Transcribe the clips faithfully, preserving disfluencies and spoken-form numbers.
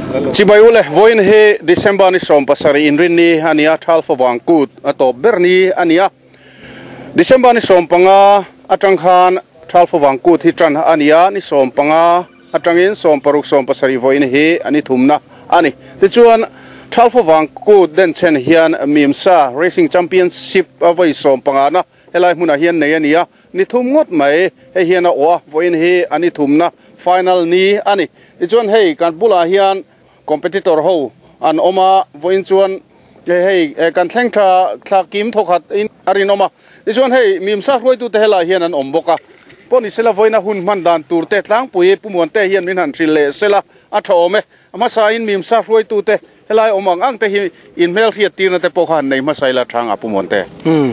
Chibai ule voin he December ni som pasari inrin ni ania thal fawang kut atop berni ania December ni som panga atang khan thal fawang kut hi tran ania ni som panga atangin som paruk som pasari voin he ani thumna ani ti chuan thal fawang kut den chen hian Mimsa Racing Championship avoi som panga na helai hmuna hian nei ania ni thum ngot mai he hian a wa voin he ani thumna final ni ani ti chuan hei kan bula hian competitor ho an oma voin chuan hei kan thleng tha thla kim thokhat in arin oma ti chuan hei Mimsa hruai tu te helai hian an om boka poni sela voina hun man dan tur te tlang pui pumuan te hian min han thril le sela a thome ama sa in Mimsa hruai tu te helai omang ang te hi in mel thiat tir na te pawh khan nei masaila thanga pumuan te hmm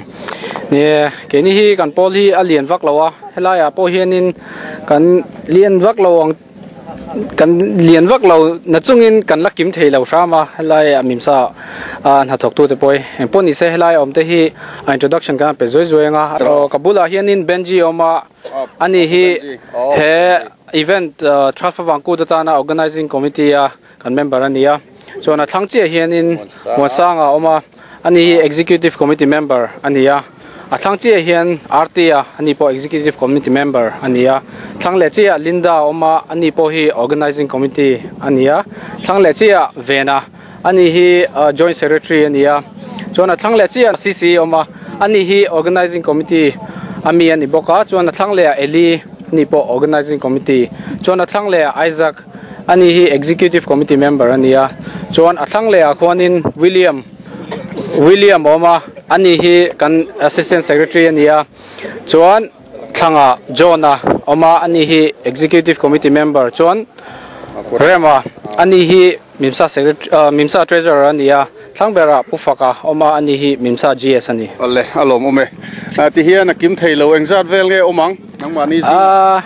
ne ke ni hi kan pol hi a lian vak lowa helai a pawh hianin kan lian vak lo ang kan lian vak lo na chungin kan lakim thei lo rama helai a Mimsa a na thok tu te poi poni se helai om te hi introduction ka pe zoi zoi nga ro kabula hianin Benji oma ani hi he event Traffic Wangku ta na organizing committee a kan member ania chuan a thlang chi hianin Muasanga oma ani hi executive committee member ania a thlang chi hian R T a ani po executive committee member ania thlang le chi a Linda oma ani po hi organizing committee ania thlang le chi a Vena ani hi joint secretary ania chuan a thlang le chi a C C oma ani hi organizing committee ami ani boka chuan a thlang le a Eli ani po organizing committee chuan a thlang le a Isaac ani hi executive committee member ania chuan a thlang le a khuanin William William oma ani hi kan assistant secretary ania chuan thlanga Johna oma ani hi executive committee member chuan Rema ani hi Mimsa secretary Mimsa treasurer ania thlangbera Pufaka oma ani hi Mimsa G S ani alle alom ome ti hian a kim theilo engzat vel nge omang nangma ni a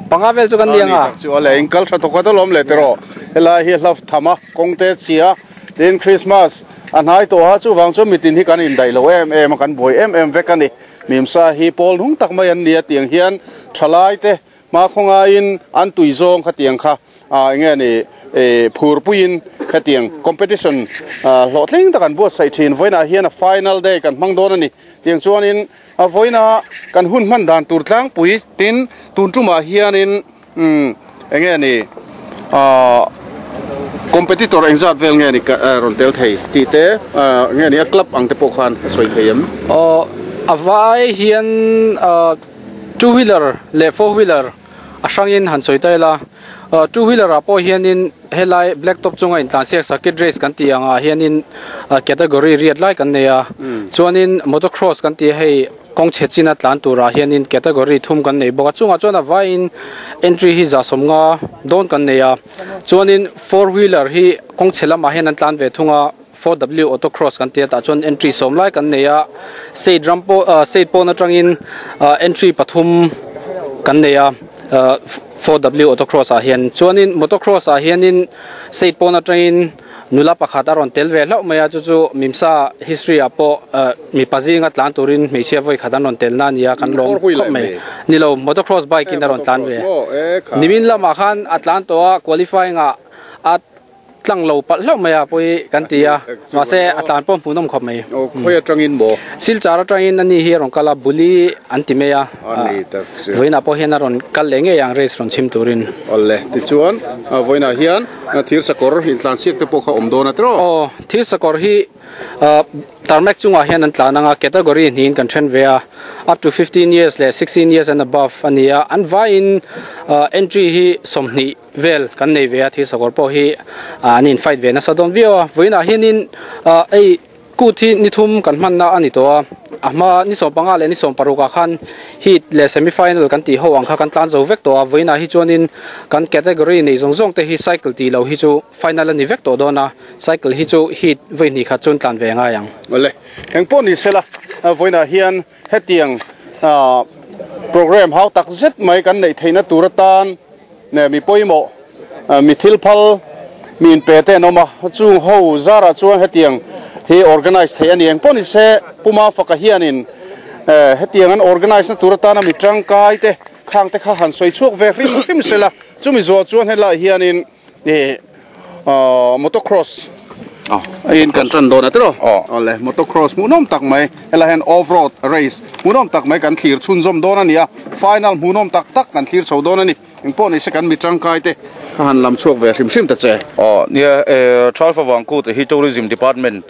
panga vel chu kan nianga chu ale engkal tha thokha to lom le tero helai hi hlaf thama kongte chia tin Christmas anhai to ha chu wang chu mitin hi kan in dai lo em em kan boi em em vek ani Mimsa hi pol hung tak mai an nia tiang hian thalai te ma khonga in an tui zong kha tiang kha a nge ni e phur puin kha tiang competition hlo thleng tak an bu sai thin voina hian a final day kan hmang don ani tiang chuan in a voina kan hun man dan tur tlang pui tin tun tuma hian in um enge ni a competitor engzat vel nge ni ron tel thei ti te nge ni a club ang te pawh khan soi thei em o awai hian two wheeler le four wheeler a hrangin han soi tai la two wheeler a pawh hianin helai black top chunga in tlan siak circuit race kan ti anga hianin category riat lai kan nei a chuanin motocross kan ti hei kong chechina tlan tura hianin category thum kan nei bawk a chunga chuan a vaiin entry hi za sawmnga dawn kan nei a chuanin four wheeler hi kong chelama hian an tlan ve thunga four W autocross kan tia ta chuan entry sawm lai kan nei a state rampo state pawn atangin entry pathum kan nei a four W autocross ah hian chuanin motocross ah hianin state pawn atangin nula pakhat a rawn tel ve hlauh mai a chu chu Mimsa history ah pawh mi pazinga tlan turin hmeichhia vawi khat an rawn tel na ania kan lawm khawp mai nilo motocross bike in a rawn tlan ve nimin lamah khan a tlan tawh a qualifying ah a tlang lo palh hlauh mai a pawi kan ti a mahse a tlan pawh hmuhnawm khawp mai o khawi atangin maw silchar atangin ani hi a rawn kal a buli an ti mai a vawiinah pawh hian a rawn kal leh ngei ang race rawn chhim turin awle tichuan vawiinah hian thir sakawr in tlan siak te pawh kha awm dawn a tiraw aw thir sakawr hi tarmac chungah hian an tlan anga category hniin kan then ve a up to fifteen years le sixteen years and above ania an vaiin entry hi sawmhnih vel kan nei ve a thir sakawr pawh hi an in fight ve nasa dawn viau a vawiinah hianin ei kut hi ni thum kan hmanna ani tawh a a hma ni sawm panga leh ni sawm paruk ah khan heat leh semi final kan tih ho ang kha kan tlan zo vek tawh a vawiinah hi chuanin kan category nei zawng zawng te hi cycle tih lo hi chu final ani vek tawh dawn a cycle hi chu heat vawi hnih khat chuan tlan ve ngai ang awle eng pawh ni sela vawiinah hian hetiang program hau tak zet mai kan nei theihna tur atan ne mi pawimawh mi thil phal mi in pe te an awm a chung ho zara chuan hetiang hi organize thei ani eng pawh ni se puma faka hianin hetiang an organize na tur atana mi tangkai te khang te kha han soi chhuak ve hrim hrim sela chumi zawh chuan helai hianin e Motocross in kan tran don atro ole motocross munom tak mai hela hen off road race munom tak mai kan thlir chun zom don ania final munom tak tak kan thlir chho don ani engpawh ni se kan mi tangkai te ka han lam chhuak ve hrim hrim ta che aw nia Thal Favang Kut hi tourism department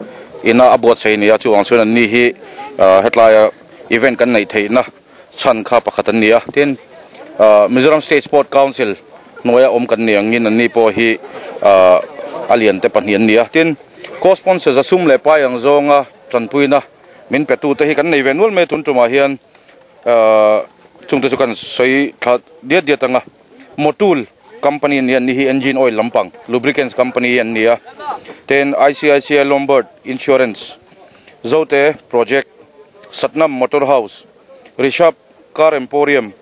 ina abuat sei nia chuang chuan an ni hi hetlai event kan nei theina chan kha pakhat an nia tin Mizoram State Sport Council noya om kan niang in an ni pawh hi alian te pahnih an nia tin co-sponsors asum le pai ang zonga tanpuina min petu te hi kan nei venul me tun tuma hian chungte chu kan soi tha diat diat anga Motul company ni an hi engine oil lampang lubricants company an nia ten I C I C I Lombard Insurance Zote Project Satnam Motor House Rishabh Car Emporium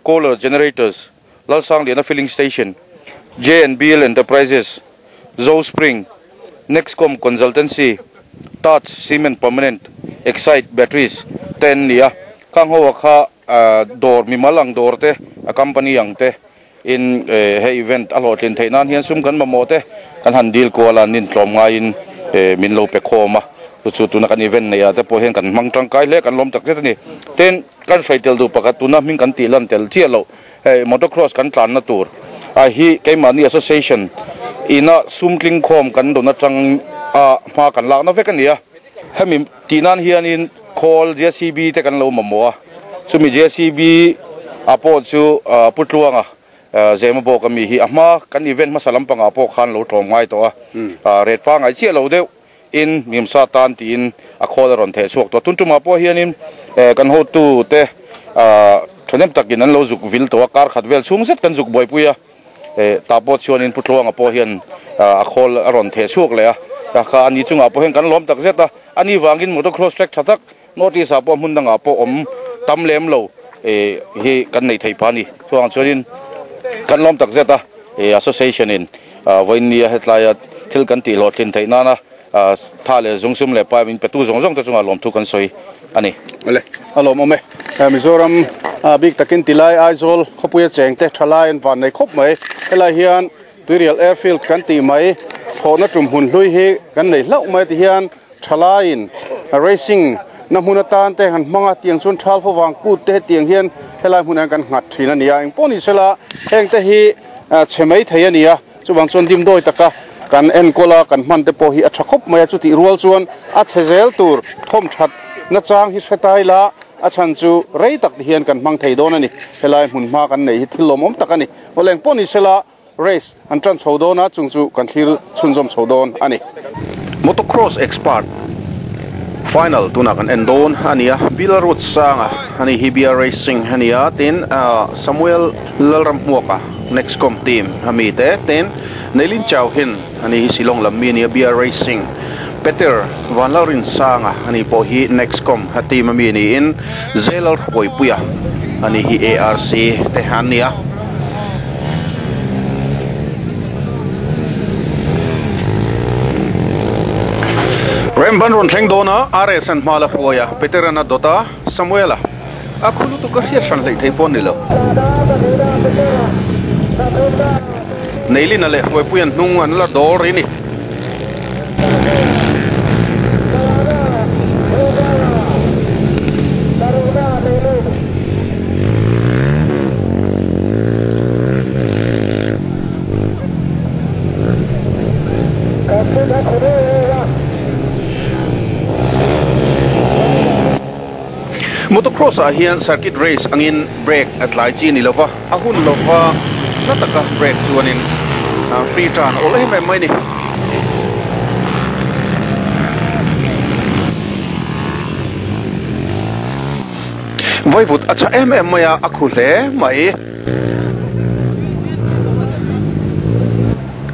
Kohler Generators Lalsang Liana Filling Station J and B L Enterprises Zo Spring Nexcom Consultancy Touch Cement Permanent Excite Batteries ten nia kang ho kha dor mi malang dor te a company ang te in he event a hlawhtlin theih nan hian sum kan mamawh te kan han deal kuala nin tlawm ngaiin min lo pe khawm a chu chu tuna kan event nei a te pawh hian kan hmang tangkai hle kan lawm tak zet ani ten kan hrai tel du pakhat tuna hming kan tih lan tel chiah lo hei motocross kan tlan na tur a hi keimahni association ina sumtling khawm kan don atang a hma kan lak na vek ani a hemi tih nan hianin khawl J C B te kan lo mamawh a chumi J C B a pawh chu putluanga zema bawk ami hi a hma kan event hmasa lampangah pawh khan lo tlawm ngai tawh a ret pa ngai chiah lo deuh in mimsa tan tiin a khawl a rawn theh chhuak tawh tun tumah pawh hianin kan hotu te thanem takin an lo zuk vil tawh a kar khat vel chhung zet kan zuk buaipui a ta pawh chuanin putluanga pawh hian a khawl a rawn theh chhuak leh a kha ani chungah pawh hian kan lawm tak zet a ani wangin motocross track tha tak north east ah pawh hmun dangah pawh awm tam lem lo hi kan nei thei pa ni chuang chuanin kan lawm tak zet a association in vawinia hetlai thil kan tih hlawhtlin theih nana tha leh zungsum leh pai min petu zawng zawng te chungah lawm thu kan sawi ani ole a lawm awm e Mizoram bik takin tilai Aizawl khawpuia cheng te thalai an van nei khawp mai helai hian Tuirial Airfield kan tih mai thawhna tum hun hlui hi kan nei hlauh mai ti hian thalaiin racing na hmun atan te han hmanga tiang chuan Thal Favang Kut te tiang hian helai hmunah kan nghat thin ani a engpawh ni sela heng te hi chhe mai thei ani a chuwang chuan dimdawi taka kan enkawl kan hman te pawh hi a tha khawp mai a chu tih rual chuan a chhe zel tur thawm that na chang hi hretai la a chan chu rei tak ti hian kan hmang thei dawn ani helai hmun hma kan nei hi thil lawmawm tak ani awleng pawh ni sela race an tran chho dawn a chung chu kan thlir chhunzawm chho dawn ani motocross expert final tuna kan en dawn ania Bilarut Sanga ani Hibia Racing ania tin Samuel Lalramhmuaka Nexcom team ami te tin Neilin Chow hin ani hi Silong lammi ania B R Racing Peter Vanlaurin Sanga ani pawh hi Nexcom ha team ami ni in Zelal Hruaipuia ani hi A R C te ania Remban ron thleng dawna R S an hma la hruaia Peter ana dota Samuela a khulu tu ka hriat hran hlei thei pawh ni lo Neilin a leh hruaipuian hnung an la dawr ri ni Motocross ah hian circuit race angin brake a tlai chi ni lova a hun lova na taka brake chuanin free turn ol em em mai ni vaivut a cha em em mai a a khu hle mai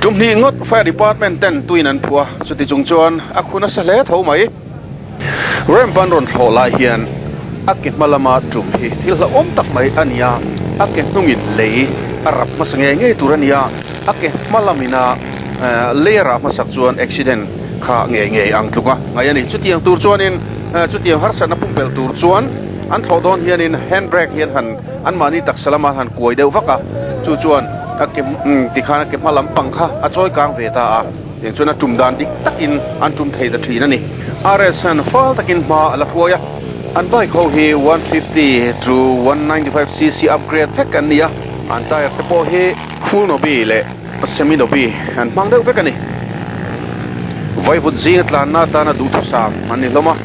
tumni ngot fire department ten tuin an phua chuti chung chuan a khuna sa hle tho mai rampan ron thlo lai hian a ke hmalama tum hi thil hla awm tak mai ania a ke hnungin lei a rap hmasa nge ngei tur ania a ke hmalamina lei a hmasak chuan accident kha nge nge ang tluka ngai ani chutiang tur chuanin chutiang harsatna pumpel tur chuan an thlo dawn hianin handbrake hian han an mahni taksa lama han kuai deuh vaka chu chuan A ke ti khana ke hma lampang kha a chawi kang ve ta a tiang chuan a tum dan dik takin an tum thei ta thin ani R S an fal takin hma a la hruai a an bike ho hi one fifty to one ninety five cc upgrade vek an ni a an tire te pawh hi full nobi leh semi nobi an hmang deuh vek ani vaivut zinga tlanna atana duhthusam an ni hlawm a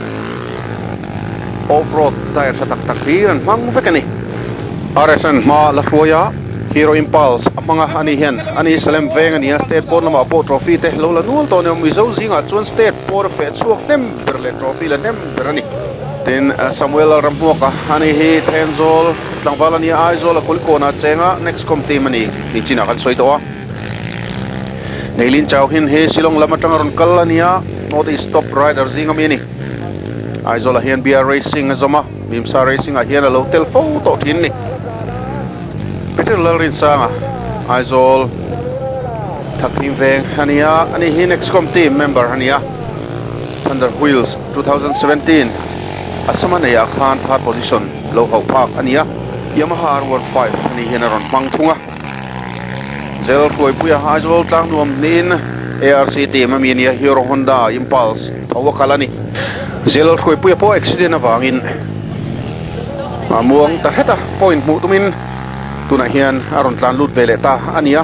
off-road tire tha tak tak hlir an hmang vek ani R S an hma la hruai a Hero Impulse a hmanga ani hian ani Salem veng ani a state pawn lamah pawh trophy te lo la nual tawh a ni Mizo zingah chuan state pawn a feh chhuak hnem ber leh trophy la hnem ber ani tin Samuel Ramhmuaka ani hi Thenzawl tlangval ani a Aizawl a Kulikawnah chenga next com team ani ni chinah kan sawi tawh a Neilin chau hin hi Shillong lam atanga rawn kal ania North East top rider zinga mi ani Aizawl ah hian B R Racing a zawm a Mimsa Racing ah hian a lo tel fo tawh thin ni Peter Lalrinsanga Aizawl Thakthim veng ania ani hi Nexcom team member ania Thunder Wheels two thousand seventeen Asama nei ah khan third position lo hauh phak ania Yamaha R one five ani hian a rawn hmang thung a Zel Hruaipuia Aizawl tlang nuam niin A R C team ami ania Hero Honda Impulse tho a kal ani Zel Hruaipuia pawh accident awangin a muang ta hret a point hmuh tumin tunah hian a rawn tlan lut ve leh ta ania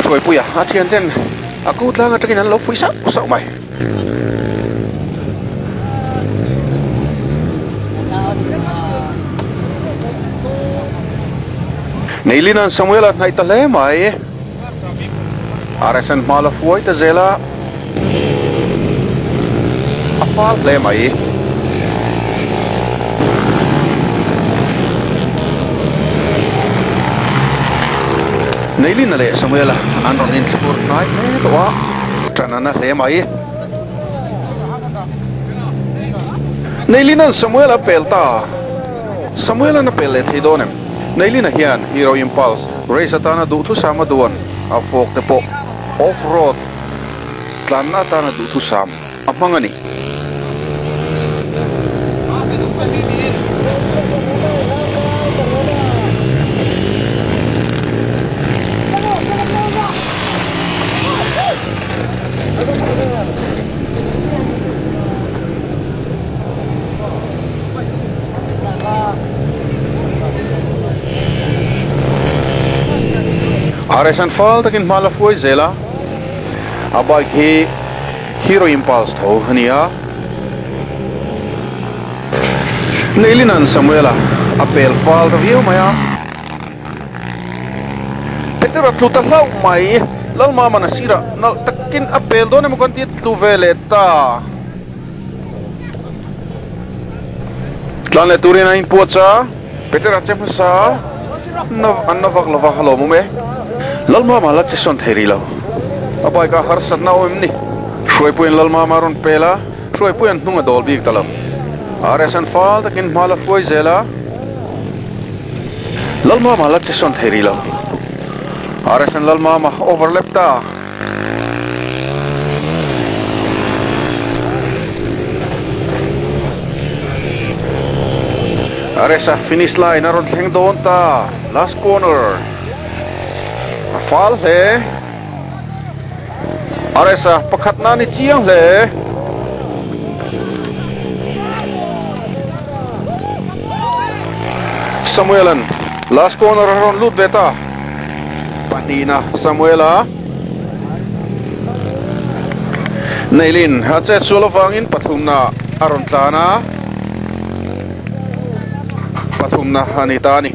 Hruaipuia a thian ten a ku tlang atangin an lo fui sauh sauh mai Neilinan Samuel a hnaih ta hle mai R S an hma la hruai ta zel a a fal hle mai Neilina leh Samuel a an rawn inthlur hnai hle tawh a tan an a hle mai Neilinan Samuel a pel ta Samuel an a pel leh thei dawn em Neilina hian Hero Impulse race atana duhthusam a duan a fawk te pawh off-road tlanna atana duhthusam a hmang ani R S an fal takin hma la hruai zel a a bike hi Hero Impulse tho ania Neilinan Samuela a pel fal ta viau mai a Peter a tlu ta hlauh mai Lalmama na sira nal takin a pel dawn emaw kan ti tlu ve leh ta tlan leh turin a inpuah cha Peter a che hmasa an na vak lova a lawm awm e Lalmama la che sawn thei rih lo a bike a harsatna awm em ni Hruaipuiin Lalmama rawn pel a Hruaipuiin hnung a dawl bik ta lo R S an fal takin hma la hruai zel a Lalmama la che sawn thei rih lo R S an Lalmama overlap ta R S a finish line a rawn thleng dawn ta last corner a fal hle R S a pakhat na ni chiang hle Samuelan last corner a rawn lut ve ta pahnihna Samuela Neilin a che sual awangin pathumna a rawn tlan a pathumna ani ta ani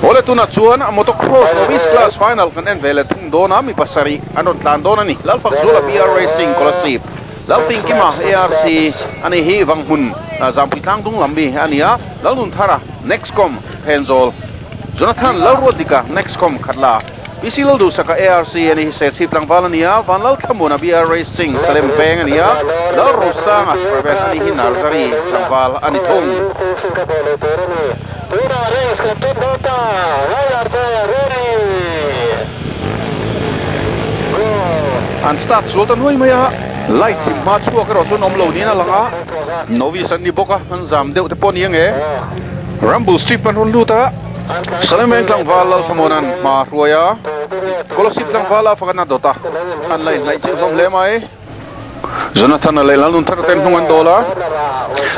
Ole tuna chuan motocross novice class final kan en ve leh thung dawn a mi pasarih an rawn tlan dawn ani Lalfak Zula B R Racing Kolasib Lalfing Kima A R C ani hi Vanghmun Zampui tlang dung lam mi ani a Lalnun Thara Nexcom Thenzawl Jonathan Lalruadika Nexcom Khatla P C Lalduhsaka A R C ani hi Serchhip tlangval ania Vanlal Thlamuana B R Racing Salem Veng ania Lal Rosanga private ani hi Narzary tlangval ani thung. An start sultan hui maya light thim ma chuak ro chun om lo ni na langa novice an ni boka an zam deuh te pawh ni ange Rumble Strip an run luta Salem Veng tlangval Lal Thlamuanan ma hruaia Kolasib tlangval a fakana dota an line nai chil hlawm hle mai Jonathan a leh lalnun thar ten hnung an dawla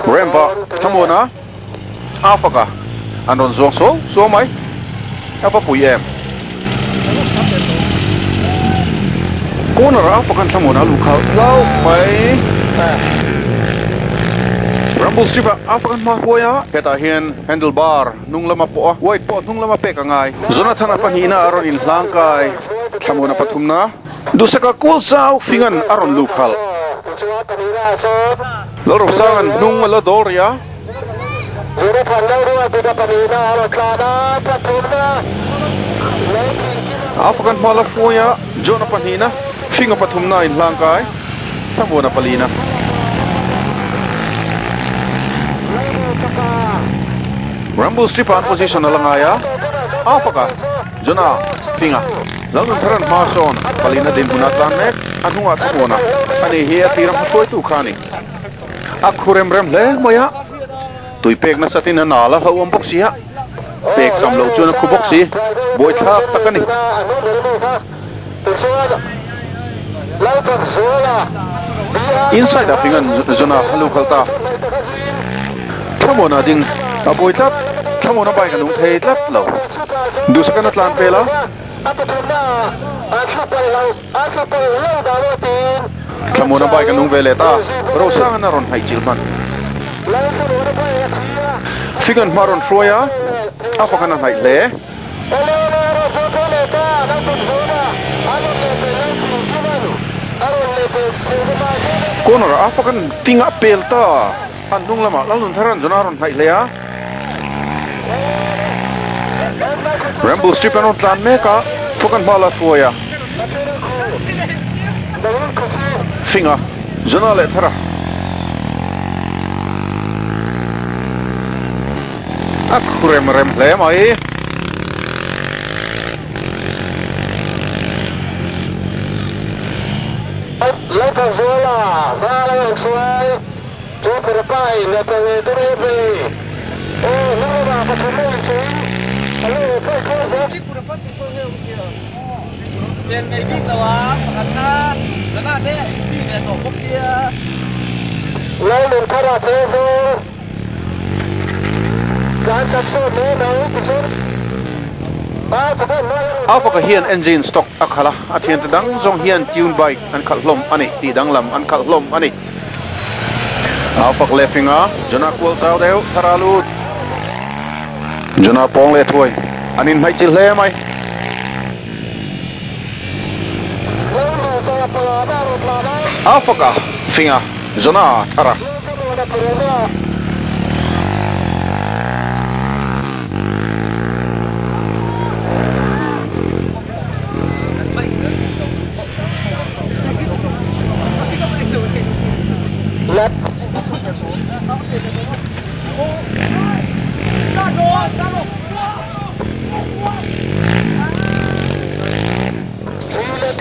Rampa Thlamuana a faka an rawn zuang so so mai a va pui em corner a fakan Thlamuana lu khal lau mai Rumble Strip a fakan ma hruaia hetah hian handlebar hnung lama pawh a white pawh hnung lama pek angai Jonathan a pahnihna a rawn inhlangkai Thlamuana pathumna Duhsaka kual zau fingan a rawn lu khal Lalrosangan hnung a la dawl ria a fakan hma la hruaia Jona pahnihna finga pathumna inhlangkai Thlamuana palina Rumble Strip an position alangaya afaka Jona finga Lalnun tharan hma sawn palina din huna tlan mek a hnungah Thlamuana ani hi a tiram hruai tu khani a khurem rem hle maya tui pek na satin a nala hlo awm bawk si a pek tam lo chuan a khu bawk si buai thlak tak ani inside a fingan Jona halu khalta Thlamuana ding a buai tlat Thlamuana bike a nung thei tlat lo Duhsakana tlan pela Thlamuana bike a nung ve leh ta Rosangana rawn hnaih chil hman Fingan hma rawn hruaia a fakana hnaih hle corner a fakan finga pel ta an hnung lama Lalnun tharan Jona rawn hnaih hle a Rumble Strip an rawn tlan mek a fakan hma la hruaia finga Jona leh thara a khurem rem hle mai A faka hian engine stock a khala a thian te dang zawng hian tune bike an khalh hlawm ani tih dang lam an khalh hlawm ani a fak leh finga Jona kual chau deuh thara lut Jona pawng leh thuai an in hnaih chil hle mai a faka finga Jona thara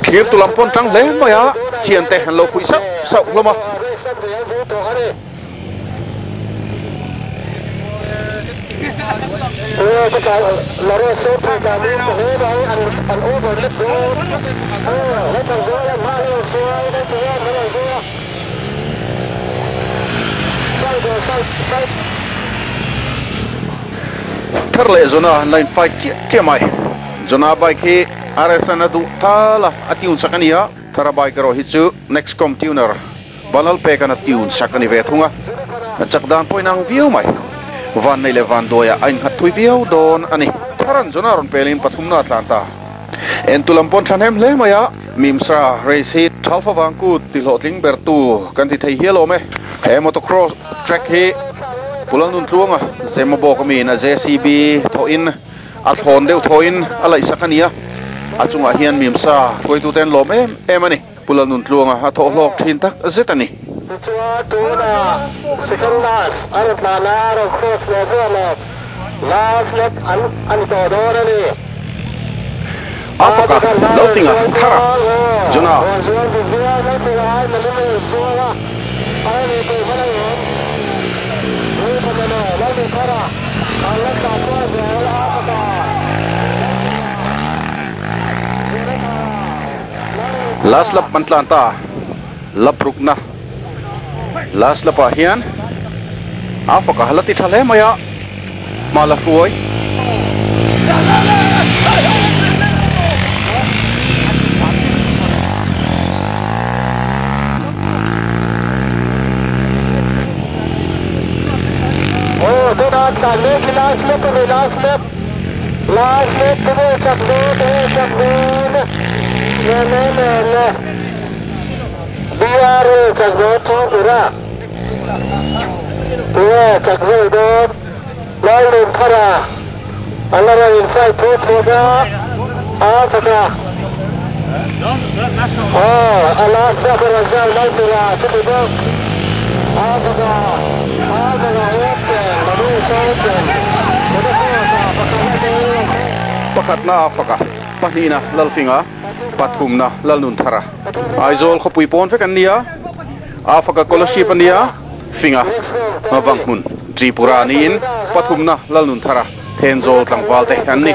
Thir tu lam pawn tang hle mai a thian te han lo phui sauh sauh hlawm a thar leh Jona line fight chiah chiah mai Jona bike hi R S an a duh thala a tune sak ania thara bike ro hi chu next com tuner Vanlal pek an a tune sak ani ve thunga a chak dan pawh inang viau mai van nei leh van duaia a innghat thui viau dawn ani tharan Jona rawn pelin pathumna tlan ta en tu lam pawn thahnem hle mai a Mimsra race hi thalfa wangkut ti hlawhtling ber tu kan ti thei hial awm e he motocross track hi Pulalnun tluanga Zemabawk ami in a J C B thawhin a thlawn deuh thawhin a laih sak ania A chungah hian mimsa hruaitu ten lawm em em ani. Pula nun tluanga a thaw hlawk thin tak zet ani. Afaka Lalfinga Thara Jona last lap man ta laprukna last lap ah hian Afaka halati thale maya mala hruai Oh, do not last lap last lap last lap ne ne ne ne B R chakzo Tripura Tua chakzo do Lalun Thara Alara inside two Tripura Afaka Oh Allah Sakara Zal Lalpura Tripura Afaka Afaka Open Manu Open Pakhatna Afaka Pahnina Lalfinga Pathumna Lalnun Thara Aizawl khawpui pawn vek an nia Afaka scholarship an nia Finga Vanghmun Tripura niin Pathumna Lalnun Thara Thenzawl tlangval te an ni.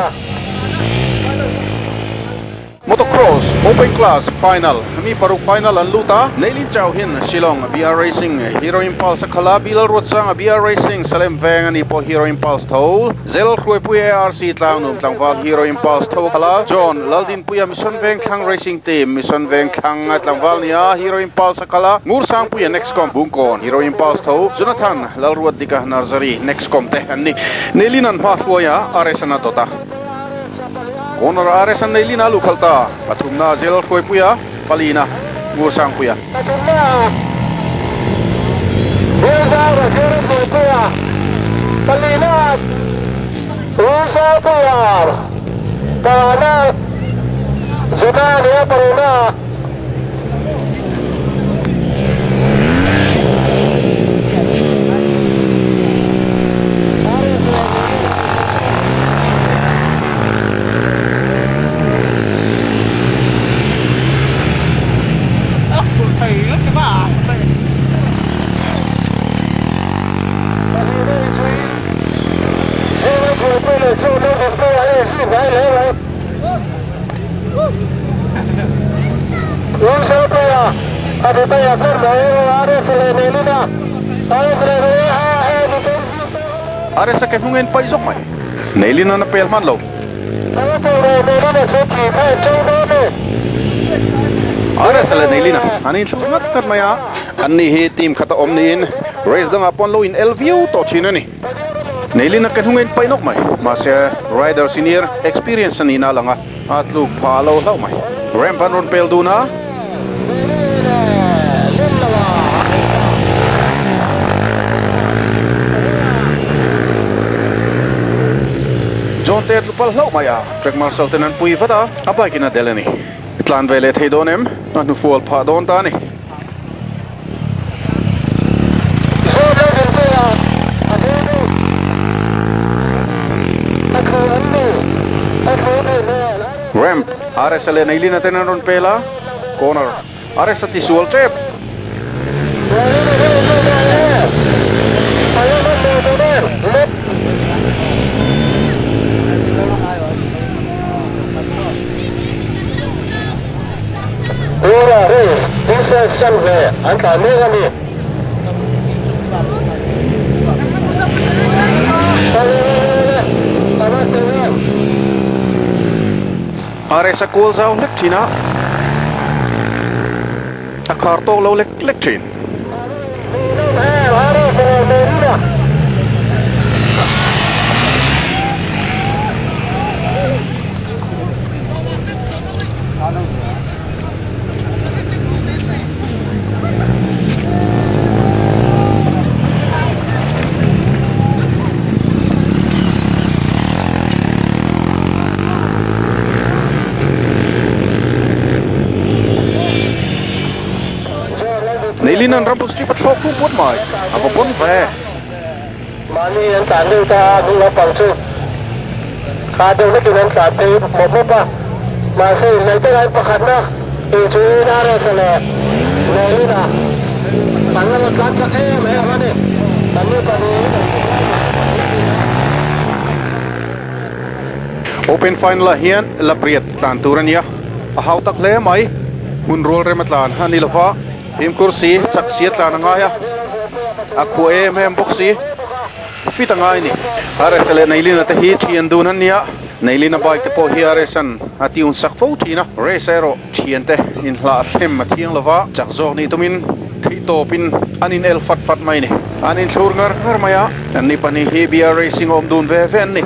Motocross Open Class Final mi paruk final an luta Neilin Chau hin Shillong B R Racing Hero Impulse khala Bilal Ruatsanga B R Racing Salem Veng ani po Hero Impulse tho Zel Hruaipui A R C Tlangnum tlangval Hero Impulse tho khala John Laldin Puia Mission Veng Thlang Racing Team Mission Veng Thlang tlangval nia Hero Impulse khala Ngursang Puia Nexcom Bungkon Hero Impulse tho Jonathan Lalruat Dika Narzari Nexcom te an ni Neilin an hma hruaia R S ana tota Corner R S an Neilin a lukhalta pathumna Zel Hruaipuia palina Ngursang Puia Palina Ngursang Puia Palina Junania Palina R S ke hnungen pai zok mai Neilin ana pel man lo R S le Neilina ani thlu ngat ngat maya anni hi team khata om niin race danga pon lo in L V to chin ani Neilina ke hnungen pai nok mai ma se rider senior experience ani na langa atluk pha lo hlau mai ramp an ron pel duna John Ted lupal hlau maya track marshal tenan pui vata a bike ina delani tlan vele thei don em a hnu fual pha don ta ni ramp R S L Neilina tenan ron pela corner R S ati sual trap R S a kual zau lek thina a khar tawk lo lek lek thin Rumble strip a thlawk pu put mai a va bon ve mani an tlan deuh ta hnung lampang chu kha deuh lekin an tlan phei mawp mawp a mahse inneih te lai pakhat na inchuin a resa leh Neilina an la rawn tlan chak em em a ni an ni pahnih Open final ah hian lapriat tlan tur ania a hau tak hle mai hun rual rem a tlan ani lova fimkhur si chak si a tlan angai a a khuah em em bawk si fit angai ni R S leh Neilina te hi thian dun an nia Neilina bike te pawh hi R S an a tiun sak fo thin a race erawh thian te inhlah thlem a thiang lova chak zawk ni tumin theih tawpin an in el fat fat mai ni an in thlur ngar ngar mai a an ni pahnih hi B R Racing awm dun ve ve an ni.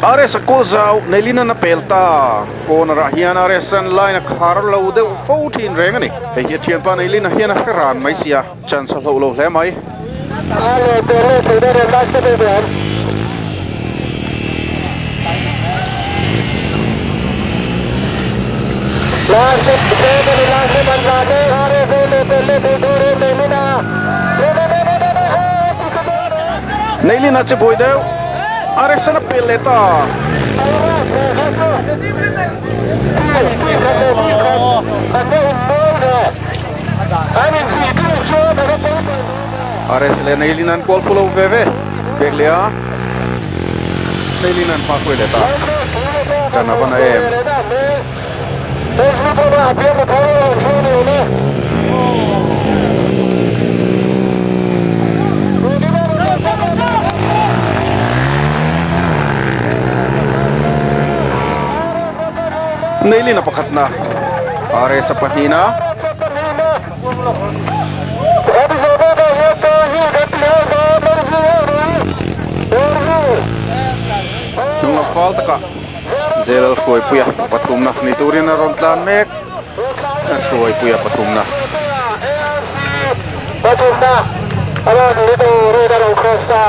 R S a kawl zau Neilina na pel ta corner ah hian R S an line a khar lo deuh fo thin reng ani hei hi a thianpa Neilina hian a hre ran mai sia chance a hloh lo hle mai. Neilina che boi deuh R S an a pel leh ta. R S leh Neilina an kual fulo ve ve pek leh a Neilina an hma khuai leh ta tan a va na em. Neilina pakhat na R S a pahnih na hnung lam fal takah Zelal hruaipuia pathum na ni turin a rawn tlan mek a hruaipuia pathum na. Pathum na a rawn ni turin a rawn cross ta.